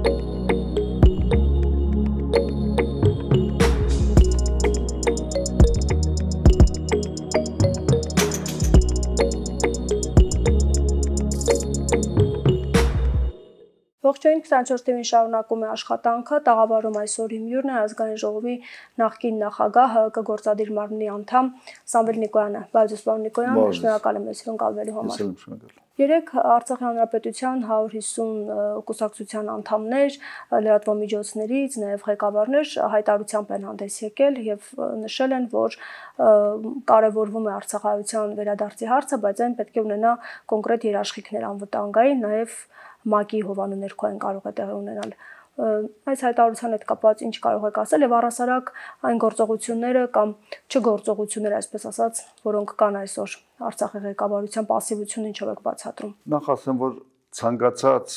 Ողջույն 24 TV-ին շարունակում է աշխատանքը, տաղավարում այսօր իմ հյուրն է ազգային ժողովի նախկին նախագահ, ՀՀԿ գործադիր մարմնի անդամ Սամվել Նիկոյանը։ Բարև պարոն Նիկոյան, շնորհակալ եմ մեզ հյուրընկալվելու համար։ Երեք Արցախի հանրապետության 150 կուսակցության անդամներ, լրատվամիջոցներից, նաև ղեկավարներ հայտարարությամբ են հանդես եկել եւ նշել են, որ կարևորվում է արցախայցյան վերադարձի հարցը, բայց այն պետք է ունենա կոնկրետ երաշխիքներ անվտանգային, նաև ՄԱԿ-ի հովանու ներքո են կարող է տեղի ունենալ։ Այս հայտարարության հետ կապված ինչ կարող եք ասել եւ առհասարակ այն գործողությունները կամ չգործողությունները, այսպես ասած, որոնք կան այսօր Արցախի ղեկավարության пассивությունը ինչով եք բացատրում։ Նախ ասեմ, որ ցանկացած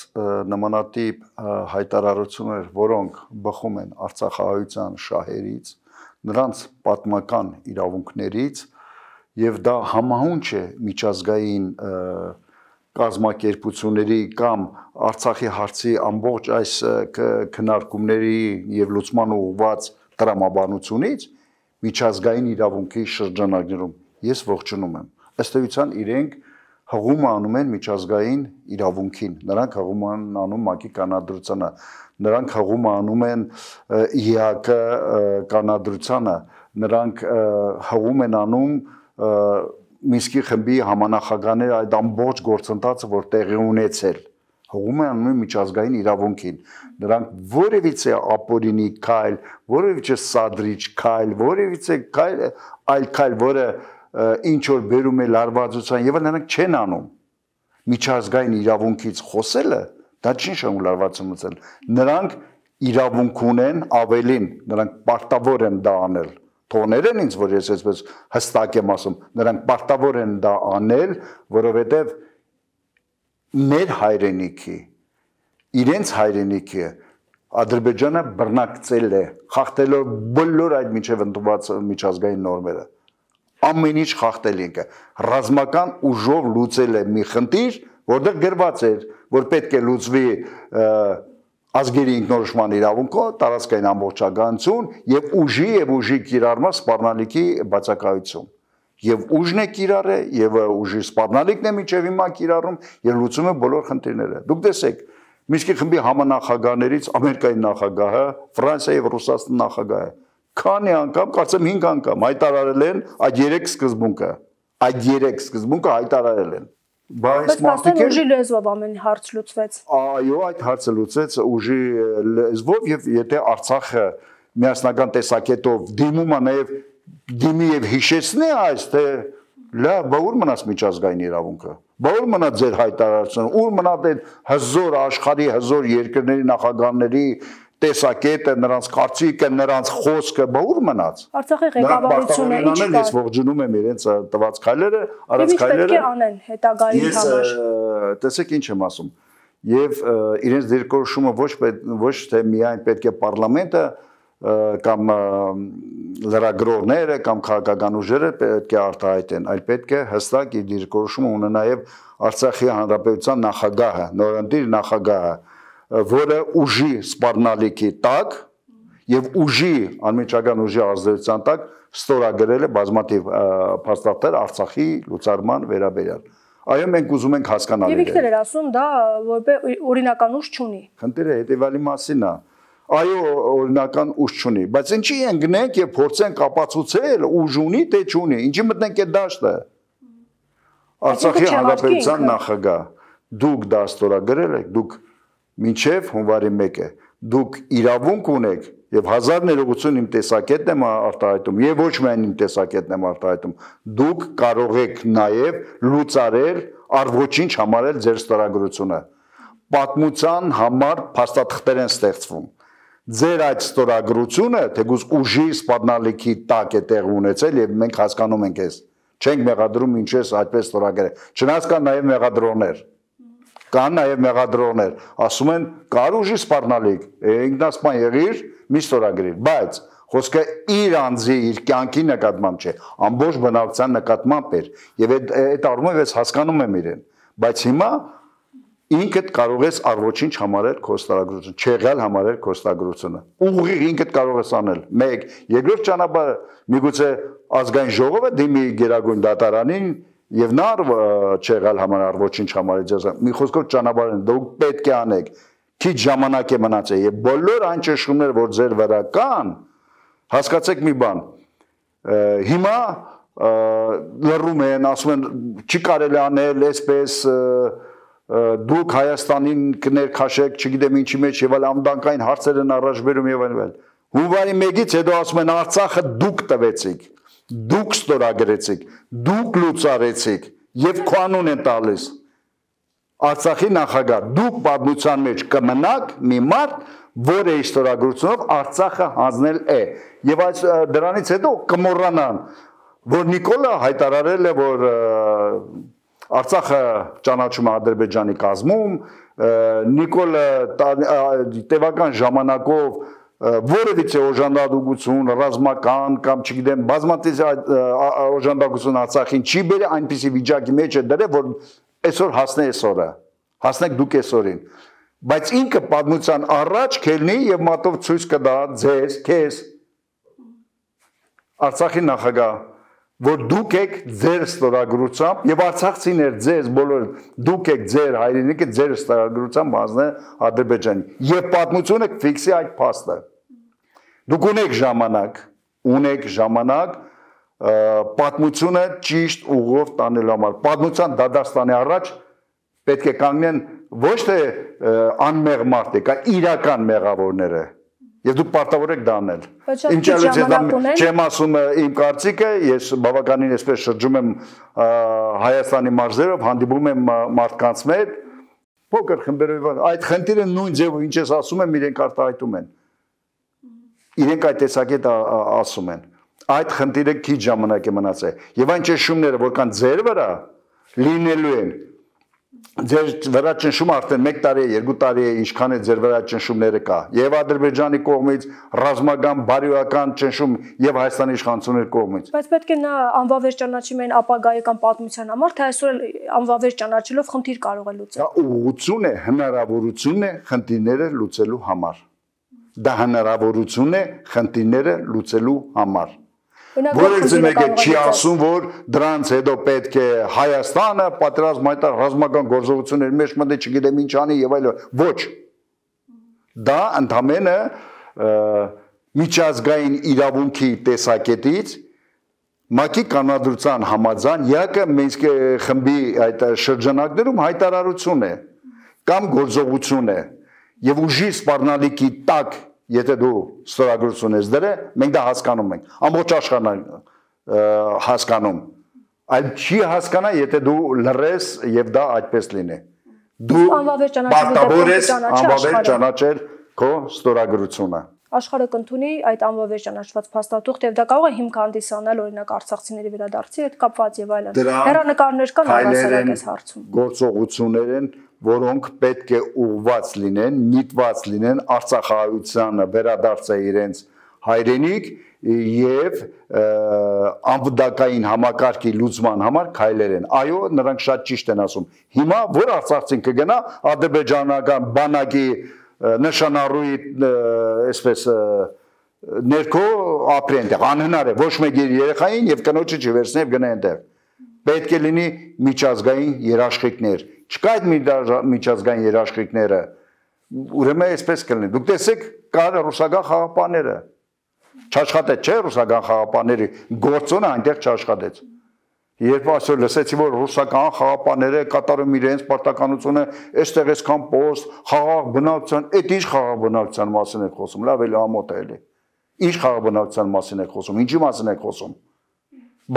նմանատիպ հայտարարություններ, որոնք բխում են արցախահայության շահերից, նրանց պատմական իրավունքներից եւ դա համահունչ է միջազգային կազմակերպությունների կամ Արցախի հարցի ամբողջ այս քննարկումների եւ լուծման ուղղված տրամաբանությունից միջազգային իրավունքի շրջանակներում ես ողջունում եմ։ Ըստ էության իրենք հղում անում են միջազգային իրավունքին, նրանք հղում են անում ՄԱԿ-ի կանոնադրությանը, նրանք հղում անում են ԻՀԿ կանոնադրությանը, նրանք հղում են անում Մինսկի խմբի համանախագահներ այդ ամբողջ գործընթացը, որ տեղի ունեցել, հղում են անում միջազգային իրավունքին։ Նրանք որևիցե ապօրինի քայլ, որևիցե սադրիչ քայլ, որևիցե այլ քայլ, որը ինչ որ բերում է լարվածության, եւ նրանք չեն անում։ Միջազգային իրավունքից խոսելը դա չի նշանակում լարվածություն։ Նրանք իրավունք ունեն ավելին, նրանք պարտավոր են դա անել։ Թողներեն ինձ, որ ես այսպես հստակ եմ ասում, նրանք պարտավոր են դա անել, որովհետև մեր հայրենիքի, իրենց հայրենիքի Ադրբեջանը բռնակցել է, խախտելով բոլոր այդ միջև ընդունված միջազգային նորմերը։ Ամեն ինչ խախտել ինքը, ռազմական ուժով լուծել է մի խնդիր, որտեղ գրված էր, որ պետք է լուծվի ազգերի ինքնորոշման իրավունքով, տարածքային ամբողջականություն եւ ուժի կիրառման սպառնալիքի բացակայություն։ Եվ ուժն է կիրառը, եւ ուժի սպառնալիքն է միջև հիմա կիրառում եւ լուծում է բոլոր խնդիրները։ Դուք տեսեք, Մինսկի խմբի համանախագահներից Ամերիկայի նախագահը, Ֆրանսիայի եւ Ռուսաստանի նախագահը քանի անգամ, կարծեմ 5 անգամ հայտարարել են այդ 3 սկզբունքը։ Այդ 3 սկզբունքը հայտարարել են։ Բայց մարդիկ ուժի լեզվով ամեն հարց լուծվեց։ Այո, այդ հարցը լուծեց ուժի լեզվով եւ եթե Արցախը միասնական տեսակետով դիմում է նաեւ դիմի եւ հիշեցնի այս թե լավ, բա ուր մնաց միջազգային իրավունքը։ Բա ուր մնա ձեր հայտարարությունը, ուր մնա այդ հզոր աշխարհի հզոր երկրների նախագահների տեսակետը, նրանց կարծիքը, նրանց խոսքը, բա ուր մնաց։ Արցախի ղեկավարությունը ինչ կա։ Ես ողջունում եմ իրենց տված քայլերը, արած քայլերը։ Պետք է անեն հետագայի համար։ Տեսեք ինչ եմ ասում։ Եվ իրենց դիրքորոշումը ոչ թե միայն պետք է պարլամենտը կամ լրագրողները կամ քաղաքական ուժերը պետք է արտահայտեն, այլ պետք է հստակ իր դիրքորոշումը ունենա նաև Արցախի հանրապետության նախագահը, նորընտիր նախագահը, որը ուժի սպառնալիքի տակ եւ ուժի անմիջական ուժի ազդեցության տակ ստորագրել է բազմաթիվ փաստաթղթեր Արցախի լուծարման վերաբերյալ։ Այո, մենք ուզում ենք հասկանալ։ Եվ ինքն էր ասում, դա որպես օրինական ուժ չունի։ Խնդիրը հետեւյալի մասին է։ Այո, օրինական ուժ չունի, բայց ինչի ընկնենք եւ փորձենք ապացուցել ուժ ունի թե չունի, ինչի մտնենք այդ դաշտը։ Արցախի հանրապետության նախագահ, դուք դա ստորագրել եք, դուք մինչև հունվարի 1-ը, դուք իրավունք ունեք եւ 1000 ներողություն իմ տեսակետն եմ արտահայտում եւ ոչ միայն իմ տեսակետն եմ արտահայտում, դուք կարող եք նաեւ լուծարել առ ոչինչ համարել ձեր ստորագրությունը։ Պատմության համար փաստաթղթեր են ստեղծվում։ Ձեր այդ ստորագրությունը թեկուզ ուժի սպառնալիքի տակ է տեղ ունեցել եւ մենք հասկանում ենք այս։ Չենք մեղադրում ինչպես այդպես ստորագրել։ Չնայած կան նաեւ մեղադրողներ։ Կան նաեւ մեղադրողներ, ասում են կար ուժի սպառնալիք, ինքնասպան եղիր, մի ստորագրիր, բայց խոսքը իր անձի, իր կյանքի նկատմամբ չէ, ամբողջ բնակության նկատմամբ էր եւ այդ առումով ես հասկանում եմ իրեն, բայց հիմա ինքդ կարող ես առոչինչ համարել քո ստորագրությունը, չեղյալ համարել քո ստորագրությունը։ Ուղիղ ինքդ կարող ես անել։ 1, երկրորդ ճանապարհը միգուցե ազգային ժողովը դիմի Գերագույն դատարանին եւ նա չեղյալ համարել ոչինչ համարել ձեզ։ Մի խոսքով ճանապարհն դուք պետք է անեք։ Քիչ ժամանակ է մնացել եւ բոլոր այն ճշգումները, որ ձեր վրա կան, հասկացեք մի բան։ Հիմա լռում են, ասում են չի կարելի անել այսպես դուք Հայաստանին կներքաշեք, չգիտեմ ինչի մեջ եւ այլ ամդանկային հարցեր են առաջ բերում եւ այլն։ Հունվարի 1-ից հետո ասում են Արցախը դուք տվեցիք, դուք ստորագրեցիք, դուք լուծարեցիք եւ քո անուն են տալիս։ Արցախի նախագահ, դուք պատմության մեջ կմնաք մի մարդ, որը ստորագրությունով Արցախը հանձնել է։ Եվ այս դրանից հետո կմոռանան, որ Նիկոլը հայտարարել է, որ Արցախը ճանաչում է Ադրբեջանի կազմում, Նիկոլը տևական ժամանակով որևիցե օժանդակություն, ռազմական կամ չգիտեմ, բազմաթիվ օժանդակություն Արցախին չի բերել, այնպիսի վիճակի մեջ է դրել, որ այսօր հասնե այսօրը, հասնեք դուք այսօրին։ Բայց ինքը պատմության առաջ կելնի եւ մատով ցույց կտա ձեզ, քեզ Արցախի նախագահ, որ դուք եք ձեր ստորագրությամբ եւ արցախցիներ ձեզ բոլոր դուք եք ձեր հայրենիքը ձեր ստորագրությամբ հանձնել Ադրբեջանին եւ պատմությունը կֆիքսի այդ փաստը։ Դուք ունեք ժամանակ պատմությունը ճիշտ ուղով տանելու համար։ Պատմության դադարստանի առաջ պետք է կանգնեն ոչ թե անմեղ մարդիկ, այլ իրական մեղավորները։ Եվ դուք պարտավոր եք դա անել։ Չեմ ասում իմ կարծիքը, ես բավականին այսպես շրջում եմ Հայաստանի մարզերով, հանդիպում եմ մարդկանց հետ, փոքր խմբերով, այդ խնդիրը նույն ձևով ինչ ես ասում եմ, իրենք արտահայտում են։ Իրենք այդ տեսակետ ասում են։ Այդ խնդիրը քիչ ժամանակ է մնացել։ Եվ այն ճնշումները, որ կան ձեր վրա, լինելու են։ Ձեր վրա ճնշումը արդեն 1 տարի է, 2 տարի է, ինչքան է ձեր վրա ճնշումները կա։ Եվ Ադրբեջանի կողմից ռազմական, բարոյական ճնշում եւ Հայաստանի իշխանությունների կողմից։ Բայց պետք է նա անվավեր ճանաչի մեն ապագայական պատմության համար, թե այսօր անվավեր ճանաչելով խնդիր կարող է լուծել։ Դա ուղղություն է, հնարավորություն է խնդիրները լուծելու համար։ Դա հնարավորություն է խնդիրները լուծելու համար։ Որևէ մեկը չի ասում, որ դրանց հետո պետք է Հայաստանը պատերազմ հայտարար ռազմական գործողությունների մեջ մտի, չգիտեմ ինչ անի եւ այլն։ Ոչ։ Դա ընդհանրապես միջազգային իրավունքի տեսակետից ՄԱԿ-ի կանոնադրության համաձայն ԵԱԿ Մինսկի խմբի այդ շրջանակներում հայտարարություն է կամ գործողություն է եւ ուժի սպառնալիքի տակ Եթե դու ստորագրություն ես դրել, մենք դա հասկանում ենք, ամբողջ աշխարհն հասկանում, այլ չի հասկանա, եթե դու լռես եւ դա այդպես լինի։ Դու պարտավոր ես անվավեր ճանաչել քո ստորագրությունը։ Աշխարհը կընդունի այդ անվավեր ճանաչված փաստաթուղթ եւ դա կարող է հիմք հանդիսանալ օրինակ արցախցիների վերադարձի հետ կապված եւ այլն։ Հեռանկարներ կան առասարակ այս հարցում։ Գործողություններ են, որոնք պետք է ուղղված լինեն, նիտված լինեն Արցախահայությանը վերադարձը իրենց հայրենիք եւ անվտանգային համակարգի լուծման համար քայլեր են։ Այո, նրանք շատ ճիշտ են ասում։ Հիմա որ արցախցին կգնա ադրբեջանական բանակի նշանառուի այսպես ներքո ապրի այնտեղ անհնար է ոչ մեկ իր երեխային եւ կնոջը չվերցնի եւ գնա այնտեղ պետք է լինի միջազգային երաշխիքներ չկա այդ միջազգային երաշխիքները ուրեմն այսպես կլինի դուք տեսեք կար ռուսական խաղապանները չաշխատեց չէ ռուսական խաղապանների գործոնը այնտեղ չաշխատեց Երբ այսօր լսեցի, որ ռուսական խաղապանները կատարում իրենց պարտականությունը, այստեղ այսքան պոստ, խաղաղ բնակության, այդ ինչ խաղաղ բնակության մասին եք խոսում, լավ էլի ամոթ է էլի։ Ինչ խաղաղ բնակության մասին եք խոսում, ինչի մասին եք խոսում։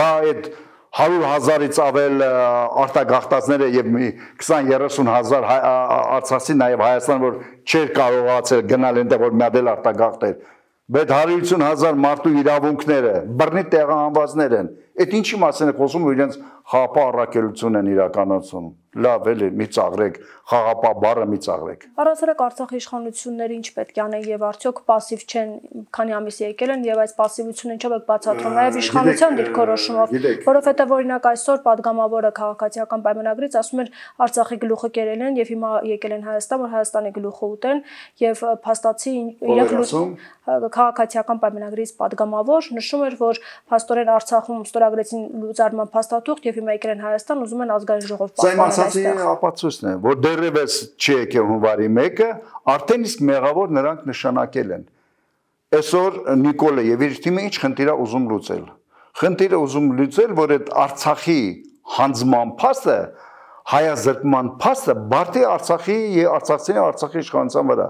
Բա այդ 100,000-ից ավել արտագաղթածները եւ 20-30,000 արցախցի նաեւ Հայաստան, որ չէր կարողացել գնալ այնտեղ, որ միադել արտագաղթեր։ Բայց 150,000 մարդու իրավունքները, բռնի տեղահանվածներ են։ Այդ ինչի մասին է խոսում, որ իրենց խաղապահ առաքելություն են իրականացնում։ Լավ էլի, մի ծաղրեք, խաղապահ բառը մի ծաղրեք։ Առասարակ Արցախի իշխանությունները ինչ պետք է անեն եւ արդյոք пассив չեն, քանի ամիս եկել են եւ այս пассивությունը ինչով է բացատրում նաեւ իշխանության դիրքորոշումով, որովհետեւ օրինակ այսօր падգամավորը քաղաքացիական պայմանագրից ասում էր Արցախի գլուխը կերել են եւ հիմա եկել են Հայաստան, որ Հայաստանի գլուխը ուտեն եւ փաստացի քաղաքացիական պայմանագրից падգամավոր նշում էր, որ փաստորեն Արցախում ստորագրեցին լուծարման փաստաթուղթ եւ հիմա եկել են Հայաստան, ուզում են ազգային ժողով պաշտպանել։ Ապացույցն է, որ դեռևս չի եկել հունվարի 1-ը, արդեն իսկ մեղավոր նրանք նշանակել են։ Այսօր Նիկոլը եւ իր թիմը ինչ խնդիր է ուզում լուծել։ Խնդիրը ուզում լուծել, որ այդ Արցախի հանձնման փաստը, հայազրկման փաստը բարդի Արցախի եւ արցախցիների Արցախի իշխանության վրա։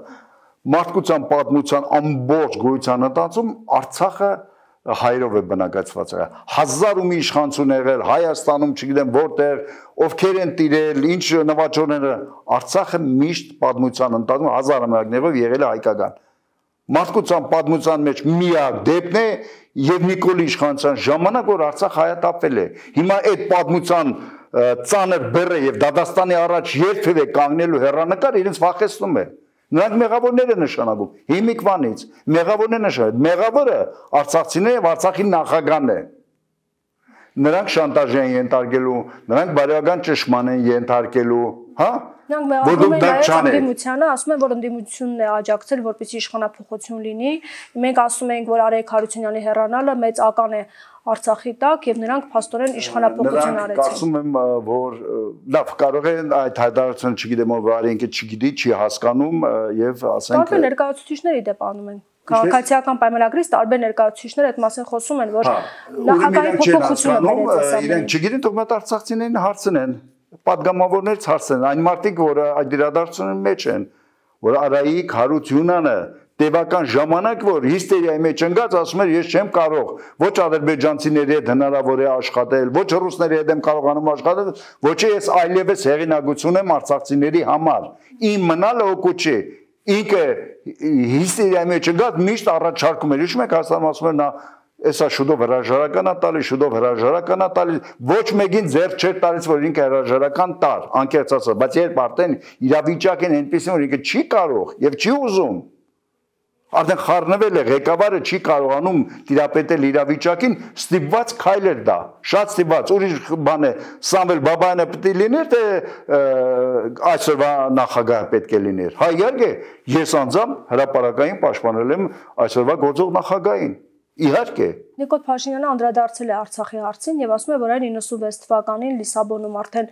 Մարդկության պատմության ամբողջ գոյության ընթացքում Արցախը հայերով է բնակեցված եղել։ 1000 ու մի իշխանություն եղել Հայաստանում, չգիտեմ որտեղ, ովքեր են տիրել, ինչ նվաճողները, Արցախը միշտ պատմության ընթացքում 1000 ամյակներով եղել է հայկական։ Մարդկության պատմության մեջ միակ դեպքն է եւ Նիկոլի իշխանության ժամանակ, որ Արցախ հայատապվել է։ Հիմա այդ պատմության ծանր բեռը եւ Դադաստանի առաջ երբևէ կանգնելու հեռանկար իրենց վախեցնում է։ Նրանք մեղավորներ են նշանակում, հիմիկվանից, մեղավորներ նշանակում, մեղավորը արցախցիները եւ Արցախի նախագահն է։ Նրանք շանտաժ են ենթարկելու, նրանք բարոյական ճշմարտ են ենթարկելու, հա? Նրանք մեղադրում են նաեւ ընդդիմությանը, ասում են, որ ընդդիմությունն է աջակցել, որպեսզի իշխանափոխություն լինի։ Մենք ասում ենք, որ Արեգ Հարությունյանի հեռանալը մեծ ական է Արցախի տակ եւ նրանք փաստորեն իշխանափոխություն արեցին։ Կարծում եմ, որ լավ կարող են այդ հայտարարությունը, չգիտեմ, որ Արեգը չգիտի, չի հասկանում եւ ասենք տարբեր ներկայացուցիչների դեպ անում են։ Քաղաքացիական պայմանագրից տարբեր ներկայացուցիչներ այդ մասին խոսում են, որ նախագահի փոփոխությունը վերացած։ Իրենք չգիտեն, թող մատ արցախցիներին հարցնեն, падգամավորներից հարցնեն, այն մարդիկ, որ այդ իրադարձությունների մեջ են, որ Արայիկ Հարությունյանը տևական ժամանակ, որ հիստերիայի մեջ ընկած, ասում էր, ես չեմ կարող ոչ ադրբեջանցիների հետ հնարավոր է աշխատել, ոչ ռուսների հետ եմ կարողանում աշխատել, ոչ ես այլևս հեղինակություն եմ արցախցիների համար։ Իմ մնալը օգուտ չի։ Ինքը հիստերիայի մեջ ընկած միշտ առաջարկում էր, հիշում եք, Հայաստանում ասում էր նա Էսա շուտով հրաժարական է տալիս, շուտով հրաժարական է տալիս, ոչ մեկին ձեռք չէր տալիս, որ ինքը հրաժարական տար, անկեղծ ասած, բայց երբ արդեն իրավիճակն է այնպեսին, որ ինքը չի կարող եւ չի ուզում, արդեն խառնվել է, ղեկավարը չի կարողանում տիրապետել իրավիճակին, ստիպված քայլեր դա, շատ ստիպված, ուրիշ բան է, Սամվել Բաբայանը պետք է լիներ, թե այսօրվա նախագահը պետք է լիներ։ Հա իհարկե, ես անձամբ հրապարակային պաշտպանել եմ այսօրվա գործող նախագահին։ Իհարկե։ Նիկոլ Փաշինյանը անդրադարձել է Արցախի հարցին եւ ասում է, որ այն 96 թվականին Լիսաբոնում արդեն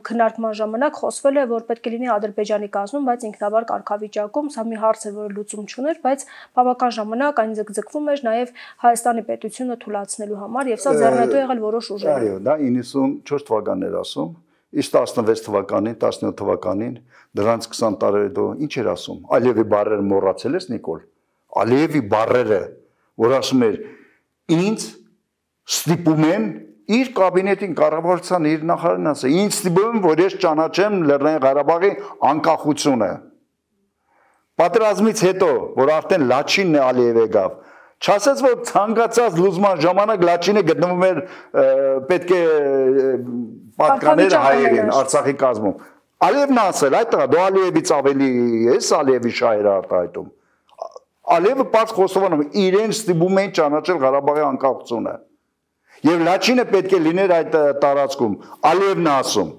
քննարկման ժամանակ խոսվել է, որ պետք է լինի Ադրբեջանի կազմում, բայց ինքնավար կարգավիճակում, սա մի հարց է, որը լուծում չուներ, բայց բավական ժամանակ այն ձգձգվում էր նաեւ Հայաստանի պետությունը թույլատնելու համար եւ սա ձեռնտու եղել որոշ ուժեր։ Այո, դա 94 թվականն էր ասում, իսկ 16 թվականին, 17 թվականին, դրանց 20 տարի հետո ինչ էր ասում։ Ալիևի բառերը մոռացել ես, Նիկոլ։ Ալիևի բառերը, որ ասում էր ինձ ստիպում են իր կաբինետին կառավարության իր նախարարին ասել ինձ ստիպում են որ ես ճանաչեմ Լեռնային Ղարաբաղի անկախությունը պատերազմից հետո որ արդեն Լաչինն է Ալիևը գավ չասեց որ ցանկացած լուծման ժամանակ Լաչինը գտնվում էր պետք է պատկաներ հայերին Արցախի կազմում Ալիևն ասել այդ տղա դու Ալիևից ավելի ես Ալիևի շահերը արտահայտում Ալիևը պարզ խոստովանում իրեն ստիպում են ճանաչել Ղարաբաղի անկախությունը եւ Լաչինը պետք է լիներ այդ տարածքում Ալիևն ասում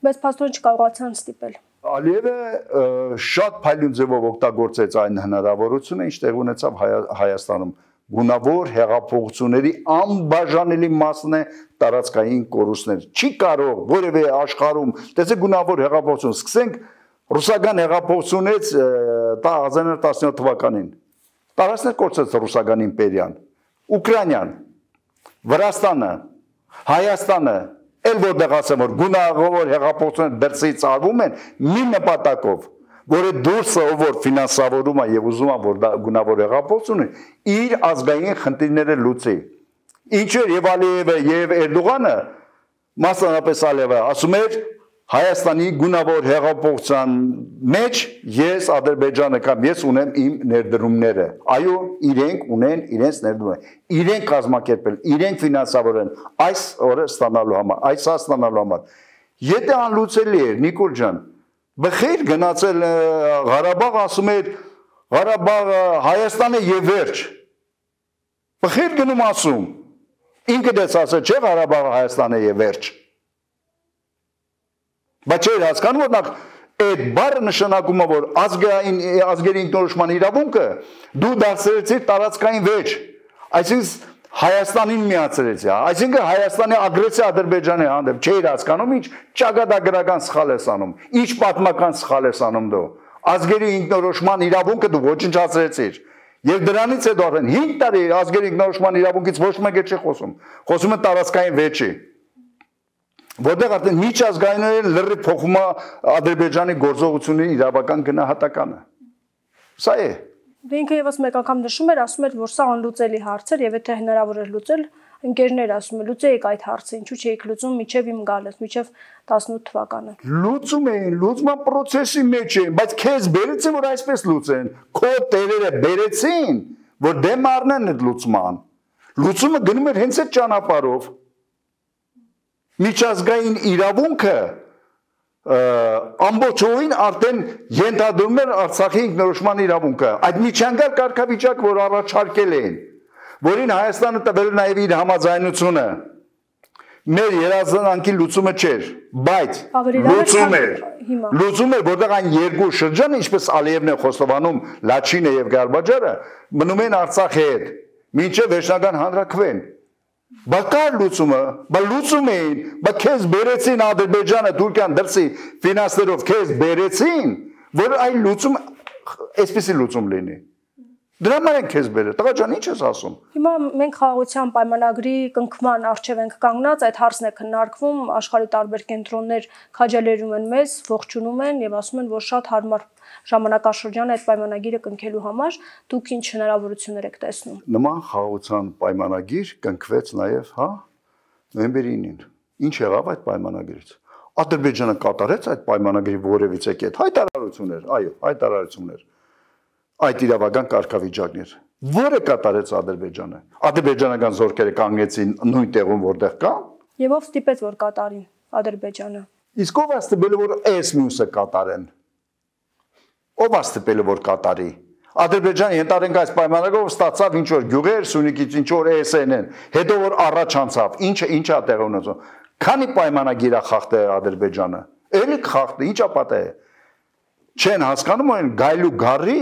բայց փաստորեն չկարողացան ստիպել Ալիևը շատ փայլուն ձևով օգտագործեց այն հնարավորությունը ինչ տեղ ունեցավ Հայաստանում գունավոր հեղափոխությունների անբաժանելի մասն է տարածքային կորուստներ չի կարող որևէ աշխարհում տեսեք գունավոր հեղափոխություն սկսենք ռուսական հեղափոխությունից 1917 թվականին տարածքներ կորցրեց ռուսական իմպերիան Ուկրաինան Վրաստանը Հայաստանը էլ որտեղ ասեմ որ գունավոր հեղափոխությունները դրսից արվում են մի նպատակով որ այդ դուրսը ով որ ֆինանսավորում է եւ ուզում է որ գունավոր հեղափոխությունը իր ազգային խնդիրները լուծի ինչեր եւ Ալիևը եւ Էրդողանը մասնավորապես Ալիևը ասում էր Հայաստանի գունավոր հեղափոխության մեջ ես Ադրբեջանը կամ ես ունեմ իմ ներդրումները։ Այո, իրենք ունեն իրենց ներդրումները։ Իրենք կազմակերպել, իրենք ֆինանսավորեն այս օրը ստանալու համար, այս ստանալու համար։ Եթե անլուծելի է, Նիկոլ ջան, բխիր գնացել Ղարաբաղ, ասում է Ղարաբաղը Հայաստանը եւ վերջ։ Բխիր գնում ասում։ Ինքը դες ասել չէ Ղարաբաղը Հայաստանը եւ վերջ։ Բայց չէր հասկանում, որ նախ այդ բառը նշանակում է, որ ազգերի ինքնորոշման իրավունքը դու դարձրեցիր տարածքային վեճ, այսինքն Հայաստանին միացրեցի, այսինքն Հայաստանի ագրեսիա Ադրբեջանի հանդեպ չէր հասկանում, ինչ ճակատագրական սխալ ես անում, ինչ պատմական սխալ ես անում դու, ազգերի ինքնորոշման իրավունքը դու ոչնչացրեցիր, եւ դրանից հետո արդեն 5 տարի ազգերի ինքնորոշման իրավունքից ոչ մեկը չի խոսում է տարածքային վեճի։ Որտեղ արդեն միջազգայինորեն լրիվ փոխում է Ադրբեջանի գործողությունների իրավական գնահատականը։ Սա է։ Ինքը եւս մեկ անգամ նշում էր, ասում էր, որ սա անլուծելի հարց էր եւ եթե հնարավոր էր լուծել, ընկերներ ասում են, լուծեիք այդ հարցը, ինչու չէիք լուծում միջև իմ գալս, միջև 18 թվականը։ Լուծում էին, լուծման process-ի մեջ էին, բայց քեզ բերեցին, որ այսպես լուծեն, քո տերերը բերեցին, որ դեմ առնեն այդ լուծման։ Լուծումը գնում էր հենց այդ ճանապարհով։ Միջազգային իրավունքը ամբողջովին արդեն ենթադրում էր Արցախի ինքնորոշման իրավունքը։ Այդ միջանկյալ կարգավիճակ, որ առաջարկել էին, որին Հայաստանը տվել նաև իր համաձայնությունը, մեր երազանքի լուծումը չէր, բայց լուծում էր, որտեղ այն երկու շրջանը, ինչպես Ալիևն է խոստովանում, Լաչինը եւ Գարբաջարը, մնում են Արցախի հետ, մինչև վերջնական հանրաքվեն։ Բա կար լուծումը, բա լուծում էին, բա քեզ բերեցին Ադրբեջանը, Թուրքիան դրսի ֆինանսերով քեզ բերեցին, որ այն լուծում, այսպեսի լուծում լինի։ Դրա համար են քեզ բերել, տղա ջան, ինչ ես ասում։ Հիմա մենք խաղաղության պայմանագրի կնքման առջև ենք կանգնած, այդ հարցն է քննարկվում, աշխարհի տարբեր կենտրոններ քաջալերում են մեզ, ողջունում են եւ ասում են, որ շատ հարմար ժամանակաշրջան է այդ պայմանագիրը կնքելու համար, դուք ինչ հնարավորություններ եք տեսնում։ Նման խաղաղության պայմանագիր կնքվեց նաեւ, հա, նոյեմբերի 9-ին։ Ինչ եղավ այդ պայմանագրից։ Ադրբեջանը կատարեց այդ պայմանագրի որևիցե կետ, հայտարարություններ, այո, հայտարարություններ։ Այդ իրավական կարգավիճակներ, որը կատարեց Ադրբեջանը։ Ադրբեջանական զորքերը կանգնեցին նույն տեղում, որտեղ կա։ Եվ ով ստիպեց, որ կատարին Ադրբեջանը։ Իսկ ով ստիպել որ այս մյուսը կատարեն։ Ով ստիպել որ կատարի։ Ադրբեջանը ենթադրենք այս պայմանագրով ստացավ ինչ որ գյուղեր, Սյունիքից ինչ որ SN-ն, հետո որ առաջ անցավ, ինչա տեղ ունեցավ։ Քանի պայմանագիր է խախտել Ադրբեջանը։ Էլի խախտել, ինչա պատահել։ Չեն հասկանում են գայլու գառի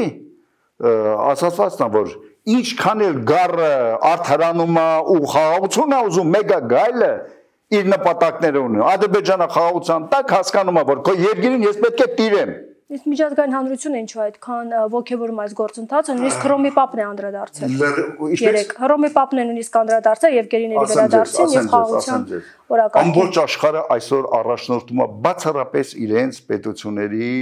ասացվածն է, որ ինչքան էլ գառը արդարանում է ու խաղաղություն է ուզում, մեգա գայլը իր նպատակները ունի։ Ադրբեջանը խաղաղության տակ հասկանում է, որ քո երկիրին ես պետք է տիրեմ։ Իսկ միջազգային հանրությունը ինչու այդքան ոգևորում այս գործընթացը, նույնիսկ Հռոմի Պապն է անդրադարձել։ Երեք Հռոմի Պապն է նույնիսկ անդրադարձել Եվգենիների վերադարձին եւ խաղաղության օրակարգին։ Ամբողջ աշխարհը այսօր առաջնորդում է բացառապես իրենց պետությունների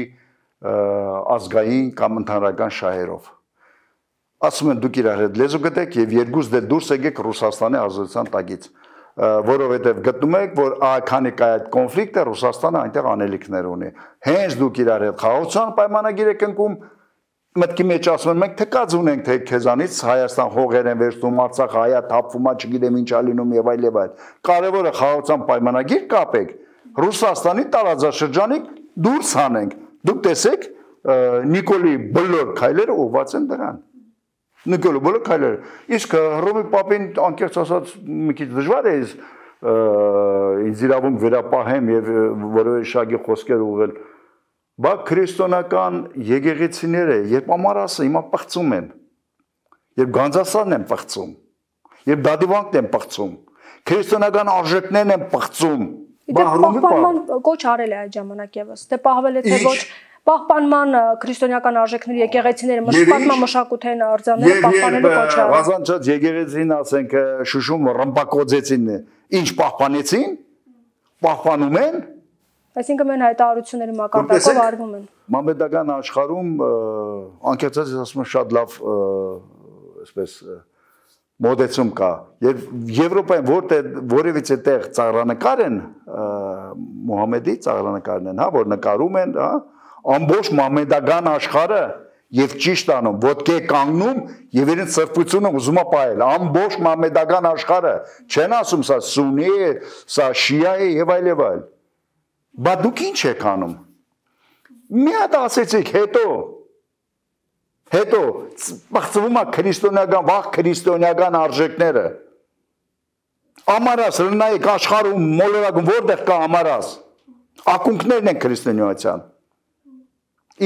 ազգային կամ ընդհանրական շահերով։ Ասում են դուք իրար հետ լեզու գտեք եւ երկուս դե դուրս եկեք Ռուսաստանի ազատության տակից, որովհետեւ գտնում եք, որ քանի կա այդ կոնֆլիկտը Ռուսաստանը այնտեղ անելիքներ ունի։ Հենց դուք իրար հետ խաղաղության պայմանագիր եք ընկում, մտքի մեջ ասում են մենք թեկած ունենք թե քեզանից Հայաստան հողեր են վերցնում, Արցախ հայա թափվում է, չգիտեմ ինչա լինում եւ այլ եւ այլ։ Կարևորը խաղաղության պայմանագիր կապեք, Ռուսաստանի տարածաշրջանից դուրս հանենք։ Դուք տեսեք Նիկոլի բոլոր քայլերը ուղղված են դրան։ Նիկոլի բոլոր քայլերը։ Իսկ Հռոմի Պապին անկեղծ ասած մի քիչ դժվար է ինձ իրավունք վերապահեմ եւ որևէ շագի խոսքեր ուղղել։ Բա քրիստոնական եկեղեցիները, երբ ամառասը հիմա պղծում են, երբ Գանձասարն են պղծում, երբ Դադիվանքն են պղծում, քրիստոնական արժեքներն են պղծում։ Պահպանման կոչ արել է այդ ժամանակ եւս։ Դե պահվել է թե ոչ պահպանման քրիստոնեական արժեքների եկեղեցիները մշտական մշակութային արձանները պահպանելու կոչ արել։ Վազանչած եկեղեցին, ասենք Շուշում ռմբակոծեցին, ինչ պահպանեցին, պահպանում են։ Այսինքն մեն հայտարարությունների մակարդակով արվում են։ մոդեցում կա։ Եվ Եվրոպայում որևիցե տեղ ծաղրանկար են Մուհամեդի ծաղրանկարն են, հա, որ նկարում են, հա, ամբողջ մամեդական աշխարհը եւ ճիշտ անում, ոտքի կանգնում եւ իրենց սրբությունը ուզում է պահել, ամբողջ մամեդական աշխարհը, չեն ասում սա սունի է, սա շիա է եւ այլ եւ այլ։ Բա դուք ինչ եք անում։ Մի հատ ասեցիք, հետո բացվում է քրիստոնեական, վաղ քրիստոնեական արժեքները։ Ամարաս լնայեք աշխարհում մոլորակում որտեղ կա ամարաս։ Ակունքներն են քրիստոնեության։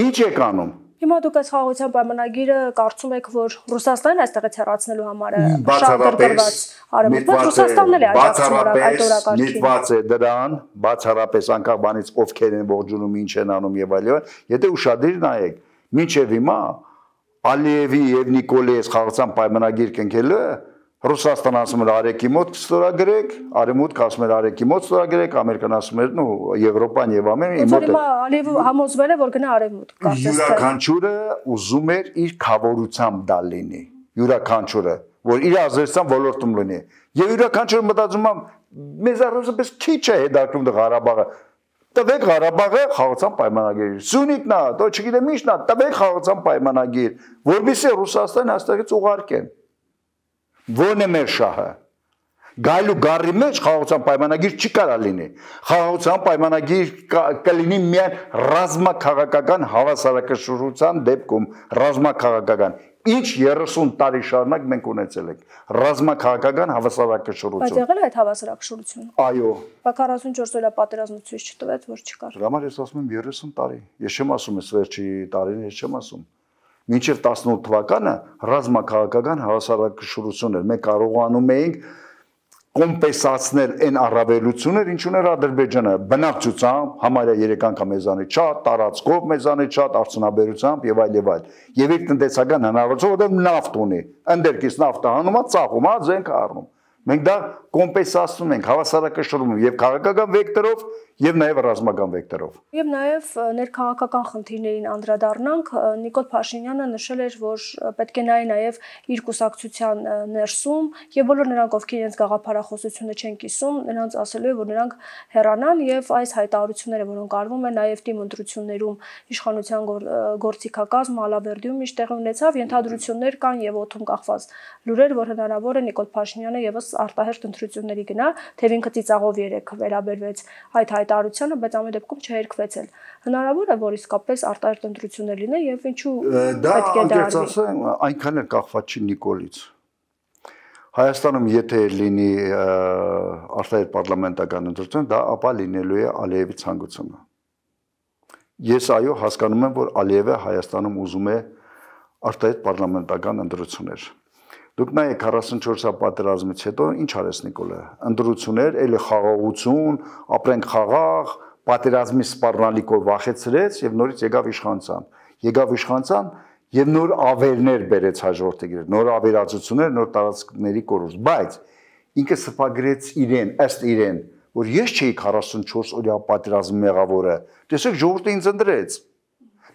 Ինչ եք անում։ Հիմա դուք այս խաղաղության պայմանագիրը կարծում եք, որ Ռուսաստանն այստեղից հեռացնելու համար է շատ դրված արևմուտք, բայց Ռուսաստանն էլ է աջակցում այդ օրակարգին։ Նետված է դրան, բացառապես անկախ բանից ովքեր են ողջունում, ինչ են անում եւ այլն, եթե ուշադիր նայեք, մինչեւ հիմա Ալիևի եւ Նիկոլեյի խաղաղության պայմանագիր կնքելը Ռուսաստան ասում էր արեկի մոտ ստորագրեք, արևմուտք ասում էր արեկի մոտ ստորագրեք, Ամերիկան ասում էր, նո, Եվրոպան եւ Ամերիկան իմոտ։ Հիմա Ալիևը համոզվել է, որ գնա արևմուտք, կարծես թե։ Յուրաքանչյուրը ուզում էր իր խավորությամբ դա լինի, յուրաքանչյուրը, որ իր ազերստան ոլորտում լինի։ Եվ յուրաքանչյուրը մտածում է, մեզ առանց քիչ է հետաքրքրում դա Ղարաբաղը։ Տվեք Ղարաբաղը խաղաղության պայմանագիր։ Սունիտնա, դո չգիտեմ ինչնա, տվեք խաղաղության պայմանագիր, որովհետեւ Ռուսաստանը այստեղից ուղարկեն։ Ո՞րն է մեր շահը։ Գայլու գարի մեջ խաղաղության պայմանագիր չի կարա լինի։ Խաղաղության պայմանագիր կլինի միայն ռազմաքաղաքական հավասարակշռության դեպքում, ռազմաքաղաքական։ Ինչ 30 տարի շարունակ մենք ունեցել ենք ռազմաքաղաքական հավասարակշռություն։ Բայց եղել է այդ հավասարակշռությունը։ Այո։ Բայց 44 օրյա պատերազմը ցույց չտվեց, որ չկար։ Դրա համար ես ասում եմ 30 տարի։ Ես չեմ ասում այս վերջի տարին, ես չեմ ասում։ Մինչև 18 թվականը ռազմաքաղաքական հավասարակշռություն էր։ Մենք կարողանում էինք կոմպենսացնել այն առավելությունները, ինչ ուներ Ադրբեջանը, բնակչությամբ, համարյա 3 անգամ մեզանից շատ, տարածքով մեզանից շատ, արդյունաբերությամբ եւ այլ եւ այլ։ Եվ իր տնտեսական հնարավորությունը, որտեղ նավթ ունի, ընդերքից նավթը հանում է, ծախում է, զենք առնում։ Մենք դա կոմպենսացնում ենք, հավասարակշռում եւ քաղաքական վեկտորով եւ նաեւ ռազմական վեկտորով։ Եվ նաեւ ներքաղաքական խնդիրներին անդրադառնանք, Նիկոլ Փաշինյանը նշել էր, որ պետք է նայի նաեւ իր կուսակցության ներսում եւ բոլոր նրանք, ովքեր իրենց գաղափարախոսությունը չեն կիսում, նրանց ասելու է, որ նրանք հեռանան եւ այս հայտարարությունները, որոնք արվում են նաեւ թիմ ընտրություններում իշխանության գործիքակազմ Ալավերդիում միշտ տեղի ունեցավ, ենթադրություններ կան եւ օդում կախված լուրեր, որ հնարավոր է Նիկոլ Փաշինյանը եւս արտահերթ ընտրությունների գնա, թեև ինքը ծիծաղով երեք վերաբերվեց այդ հայտարարությանը, բայց ամեն դեպքում չհերկվեց էլ։ Հնարավոր է, որ իսկապես արտահերթ ընտրություններ լինեն եւ ինչու պետք է դա ասեմ, այնքան էլ կախված չի Նիկոլից։ Հայաստանում եթե լինի արտահերթ պարլամենտական ընտրություն, դա ապա լինելու է Ալիևի ցանկությունը։ Ես այո հասկանում եմ, որ Ալիևը Հայաստանում ուզում է արտահերթ պարլամենտական ընտրություններ։ Դուք նայեք 44-ա պատերազմից հետո ինչ արեց Նիկոլը։ Ընտրություններ, էլի խաղաղություն, ապրենք խաղաղ, պատերազմի սպառնալիքով վախեցրեց եւ նորից եկավ իշխանության։ Եկավ իշխանության եւ նոր ավերներ բերեց հաջորդի գրել, նոր ավերածություններ, նոր տարածքների կորուստ, բայց ինքը սփագրեց իրեն, ըստ իրեն, որ ես չէի 44 օրյա պատերազմի մեղավորը։ Տեսեք, ժողովուրդը ինձ ընտրեց։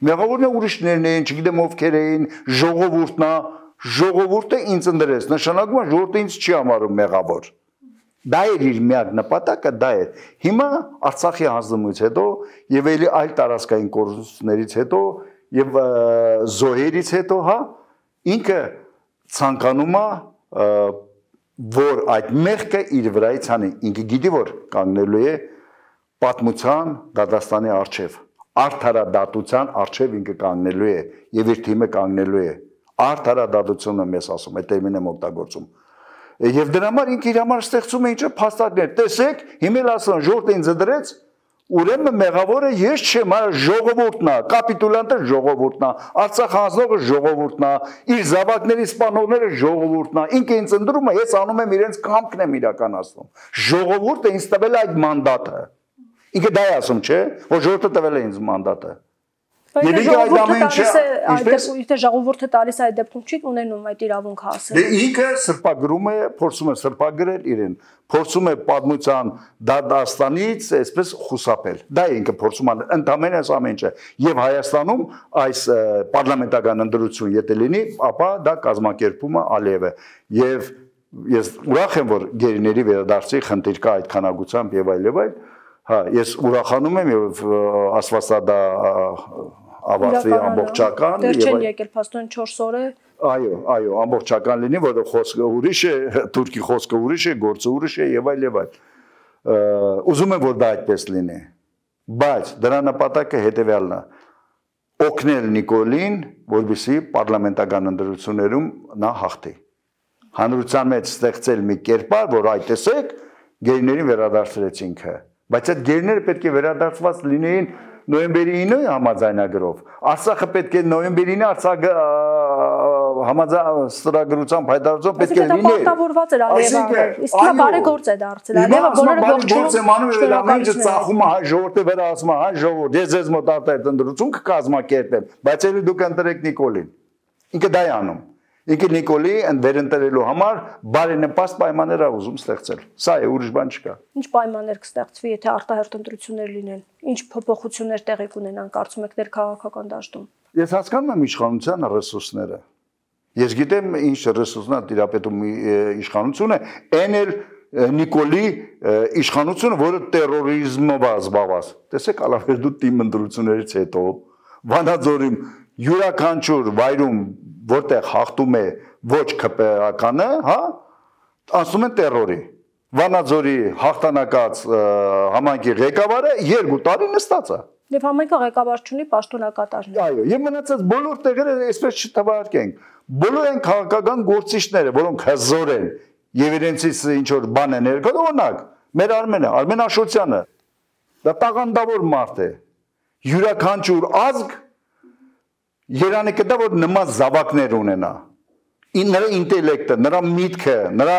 Մեղավորն է ուրիշներն են, չգիտեմ ովքեր էին, ժողովուրդն է, ժողովուրդը ինձ ընտրեց, նշանակում է ժողովուրդը ինձ չի համարում մեղավոր։ Դա էր իր միակ նպատակը, դա էր։ Հիմա Արցախի հանձնումից հետո եւ ելի այլ տարածքային կորուստներից հետո եւ զոհերից հետո, հա, ինքը ցանկանում է որ այդ մեղքը իր վրայից անի, ինքը գիտի որ կանգնելու է պատմության դատաստանի առջև, արդարադատության առջև ինքը կանգնելու է եւ իր թիմը կանգնելու է, արդարադատությունը մեզ ասում, այդ տերմինը օգտագործում։ Եվ դրա համար ինքը իր համար ստեղծում է ինչ փաստարկներ, տեսեք, հիմա ասում ժողովուրդը ինձ դրեց, ուրեմն մեղավորը ես չեմ, ժողովուրդն է, կապիտուլյանտը ժողովուրդն է, Արցախ հանձնողը ժողովուրդն է, իր զավակների սպանողները ժողովուրդն է, ինքը ինձ ընտրում է, ես անում եմ իրենց կամքն եմ իրականացնում։ Ժողովուրդը ինձ տվել է այդ մանդատը։ Ինքը դա է ասում, չէ, որ ժողովուրդը տվել է ինձ մանդատը։ Եթե ժողովուրդը տալիս այդ դեպքում չի ունենում այդ իրավունքը ասել։ Դե ինքը սրբագրում է, փորձում է սրբագրել իրեն, փորձում է պատմության դատաստանից այսպես խուսափել։ Դա ինքը փորձում է ընդամենը այս ամեն ինչը։ Եվ Հայաստանում այս պարլամենտական ընտրություն եթե լինի, ապա դա կազմակերպում է Ալիևը։ Եվ ես ուրախ եմ, որ գերիների վերադարձի խնդիր կա այդ քանակությամբ եւ այլ, հա, ես ուրախանում եմ եւ աստվածադա ավարտի ամբողջական եւ չեն եկել փաստորեն 4 օր է այո, ամբողջական լինի, որը խոսքը ուրիշ է, թուրքի խոսքը ուրիշ է, գործը ուրիշ է եւ այլ եւ այլ։ Ուզում եմ, որ դա այդպես լինի, բայց դրա նպատակը հետեւյալն է. օգնել Նիկոլին, որպեսզի պարլամենտական ընտրություններում նա հաղթի։ Հանրության մեջ ստեղծել մի կերպար, որ այ տեսեք, գերիներին վերադարձրեցինք, բայց այդ գերիները պետք է վերադարձված լինեին նոյեմբերի 9-ի համաձայնագրով։ Արցախը պետք է նոյեմբերի 9 համաձայնագրությամբ հայտարարությամբ պետք է լինի։ Պարտավորված էր Ալիևը։ Իսկ նա բարեգործ է դարձել։ Ալիևը բոլորը ողջունում է, ծախում հայ ժողովրդի վրա, ասում հայ ժողովուրդ, ես ձեզ մոտ արտահայտ ընտրություն կկազմակերպեմ, բայց ելի դուք ընտրեք Նիկոլին։ Ինքը դա է անում։ Ինքը Նիկոլի վերընտրելու համար բարենպաստ պայմաններ է ուզում ստեղծել։ Սա է, ուրիշ բան չկա։ Ինչ պայմաններ կստեղծվի, եթե արտահերթ ընտրություններ լինեն։ Ինչ փոփոխություններ տեղի կունենան, կարծում եք, ներքաղաքական դաշտում։ Ես հասկանում եմ իշխանության ռեսուրսները։ Ես գիտեմ ինչ ռեսուրսն է տիրապետում իշխանությունը, այն էլ Նիկոլի իշխանությունը, որը տերորիզմով է զբաղված։ Տեսեք, ալավերդու թիմ ընտրություններից հետո Վանաձորում յուրաքանչյուր վայրում, որտեղ հաղթում է ոչ ԿՊԱ-կանը, հա, ասում են տերորի։ Վանաձորի հաղթանակած համայնքի ղեկավարը 2 տարի նստած է։ Եվ համայնքը ղեկավար չունի, պաշտոնակատարներ։ Այո, եւ մնացած բոլոր տեղերը այսպես չթվարկենք։ Բոլոր այն քաղաքական գործիչները, որոնք հզոր են եւ իրենցից ինչ որ բան են ներկայացնում, օրինակ, մեր Արմեն Աշոտյանը, դա տաղանդավոր մարդ է։ Յուրաքանչյուր ազգ Երանի կտա, որ նման զավակներ ունենա։ Նրա ինտելեկտը, նրա միտքը, նրա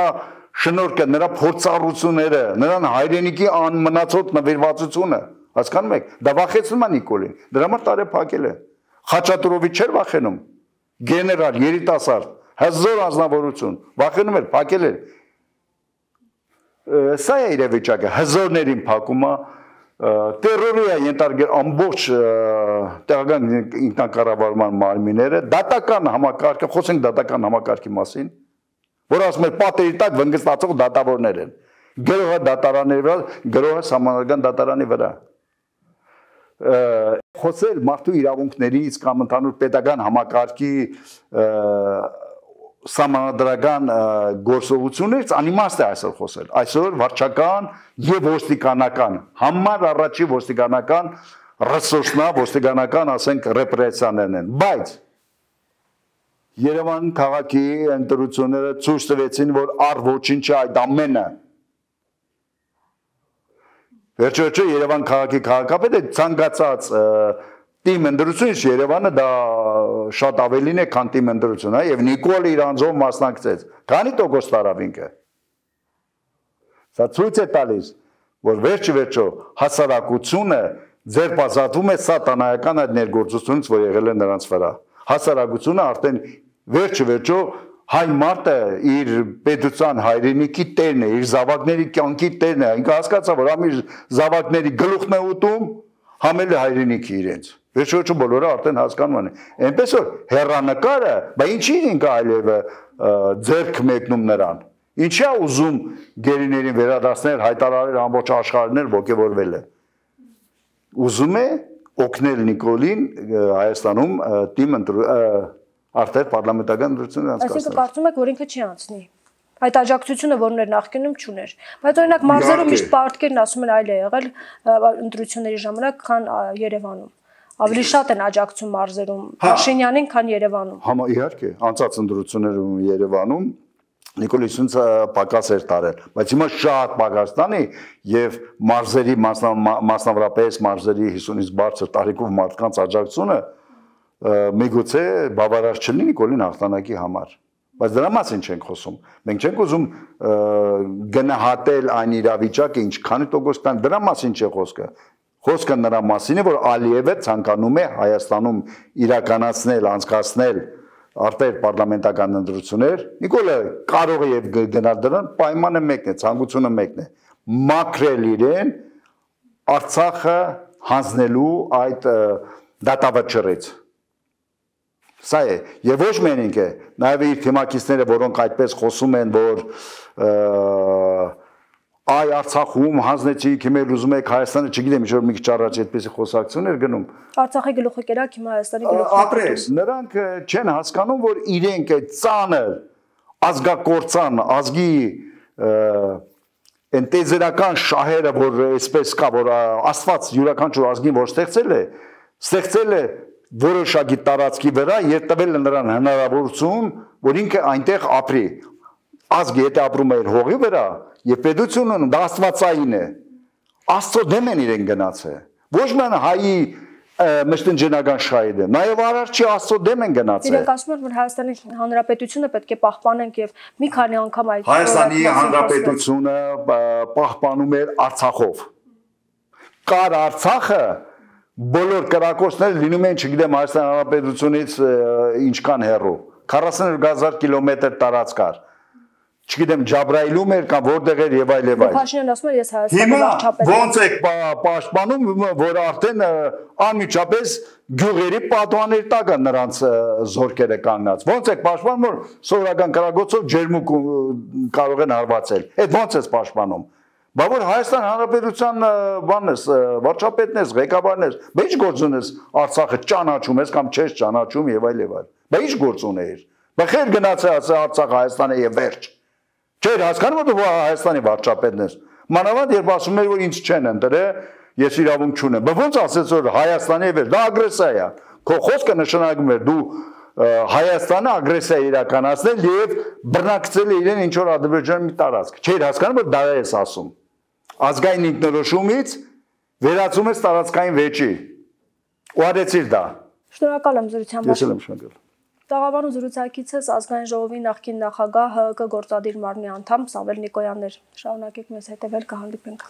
շնորհքը, նրա փորձառությունները, նրան հայրենիքի անմնացած նվիրվածությունը, հասկանում եք, դա վախեցնում է Նիկոլին։ Դրա համար տարեփակել է։ Խաչատուրովի չէր վախենում։ Գեներալ, երիտասարդ, հզոր անձնավորություն, վախենում էր, փակել էր։ Սա է իրավիճակը, հզորներին փակում է, տերորի է ենթարկել ամբողջ տեղական ինքնակառավարման մարմինները, դատական համակարգը, խոսենք դատական համակարգի մասին, որ ասում էր պատերի տակ վնգստացող դատավորներ են, գրողը դատարանների վրա, գրողը սահմանադրական դատարանի վրա։ Խոսել մարդու իրավունքներից կամ ընդհանուր պետական համակարգի սահմանադրական գործողություններից անիմաստ է այսօր խոսել։ Այսօր վարչական եւ ոստիկանական համար առաջի ոստիկանական ռեսուրսնա, ոստիկանական, ասենք, ռեպրեսիաներն են, բայց Երևան քաղաքի ընտրությունները ցույց տվեցին, որ առ ոչինչ այդ ամենը վերջո Երևան քաղաքի քաղաքապետը ցանկացած թիմ ընտրությունից Երևանը դա շատ ավելին է, քան թիմ ընտրությունը, եւ Նիկոլը իր անձով մասնակցեց։ Քանի տոկոս տարավ ինքը։ Սա ցույց է տալիս, որ վերջո հասարակությունը ձերբազատվում է սատանայական այդ ներգործությունից, որ եղել է նրանց վրա։ Հասարակությունը արդեն վերջո հայ մարդը իր պետության հայրենիքի տերն է, իր զավակների կյանքի տերն է, ինքը հասկացա, որ ամի զավակների գլուխն է ուտում, համել է հայրենիքի իրենց։ Վերջո բոլորը արդեն հասկանում են։ Այնպես որ հեռանկարը, բա ինչի ինքը այլևը ձեռք մեկնում նրան։ Ինչի է ուզում գերիներին վերադարձնել, հայտարարել ամբողջ աշխարհներ ողջևորվել է։ Ուզում է օգնել Նիկոլին Հայաստանում թիմ արդեն պարլամենտական ընտրություններ անցկացնել։ Այսինքն կարծում եք, որ ինքը չի անցնի։ Այդ աջակցությունը, որ ուներ նախկինում, չուներ։ Բայց օրինակ մարզերում միշտ պարտքերն ասում են այլ է եղել ընտրությունների ժամանակ, քան Երևանում։ Ավելի շատ են աջակցում մարզերում Փաշինյանին, քան Երևանում։ Իհարկե, անցած ընտրություններում Երևանում Նիկոլիսյանը պակաս էր տարել, բայց հիմա շատ պակաս տանի եւ մարզերի մասնավորապես մարզերի 50-ից բարձր տարիքով մարդկանց աջակցությունը միգուցե բավարար չլինի Նիկոլին հաղթանակի համար, բայց դրա մասին չենք խոսում։ Մենք չենք ուզում գնահատել այն իրավիճակը, ինչքանի տոկոս կան, դրա մասին չէ խոսքը։ Խոսքը նրա մասին է, որ Ալիևը ցանկանում է Հայաստանում իրականացնել, անցկացնել արտեր պարլամենտական ընտրություններ, Նիկոլը կարող է եւ գնալ դրան, պայմանը մեկն է, ցանկությունը մեկն է, մաքրել իրեն Արցախը հանձնելու այդ դատավճռից։ Սա է, եւ ոչ միայն ինքը, նաեւ իր թիմակիցները, որոնք այդպես խոսում են, որ այ Արցախում հանձնեցիք, հիմա ուզում եք Հայաստանը, չգիտեմ, ինչ որ մի քիչ առաջ այդպեսի խոսակցություններ գնում։ Արցախի գլուխը կերակ, հիմա Հայաստանի գլուխը։ Ապրես, նրանք չեն հասկանում, որ իրենք այդ ծանր ազգակործան, ազգի այն տեզերական շահերը, որ այսպես կա, որ Աստված յուրաքանչյուր ազգին որ ստեղծել է որոշակի տարածքի վրա եւ տվել է նրան հնարավորություն, որ ինքը այնտեղ ապրի։ Ազգը եթե ապրում է իր հողի վրա եւ պետությունը դա աստվածային է։ Աստծո դեմ են իրեն գնացել։ Ոչ միայն հայի մշտնջենական շահի դեմ, նաեւ արարչի Աստծո դեմ են գնացել։ Իրենք ասում են, որ Հայաստանի Հանրապետությունը պետք է պահպանենք եւ մի քանի անգամ այդ Հայաստանի Հանրապետությունը պահպանում էր Արցախով։ Կար Արցախը բոլոր կրակոցները լինում են, չգիտեմ, Հայաստանի Հանրապետությունից ինչքան հեռու 40000 կիլոմետր տարածք կար։ Չգիտեմ, Ջաբրայիլում էր կամ որտեղ էր եւ այլ եւ այլ։ Փաշինյանն ասում է, ես Հայաստանի վարչապետ եմ։ եմ։ Ոնց եք պաշտպանում, որ արդեն անմիջապես գյուղերի պատուաների տակ է նրանց զորքերը կանգնած։ Ոնց եք պաշտպանում, որ սովորական կրակոցով ջերմուկ կարող են հարվածել։ Այդ ոնց է պաշտպանում։ Բա որ Հայաստան Հանրապետության բանն ես, վարչապետն ես, ղեկավարն ես, բա ի՞նչ գործ ունես Արցախը ճանաչում ես կամ չես ճանաչում եւ այլ եւ այլ։ Բա ի՞նչ գործ ունեիր։ Բա խեր գնացել Արցախ Հայաստանը եւ վերջ։ Չէր հասկանում, որ Հայաստանի վարչապետն ես։ Մանավանդ երբ ասում էր, որ ինձ չեն ընտրել, ես իրավունք չունեմ։ Բա ոնց ասեց, որ Հայաստանի եւ վերջ, դա ագրեսիա է։ Քո խոսքը նշանակում է դու Հայաստանը ագրեսիա իրականացնել եւ բռնակցել իրեն ինչ որ Ադրբեջանի մի տարածք։ Չէր հասկանում, որ դա ես ասում։ Ազգային ինքնորոշումից վերածում ես տարածքային վեճի։ Ու արեցիր դա։ Շնորհակալ եմ զրույցի համար։ Ես էլ եմ շնորհակալ։ Տաղավարում զրուցակիցս ազգային ժողովի նախկին նախագահ ՀՀԿ գործադիր մարմնի անդամ Սամվել Նիկոյանն էր։ Շարունակեք մեզ հետևել, կհանդիպենք։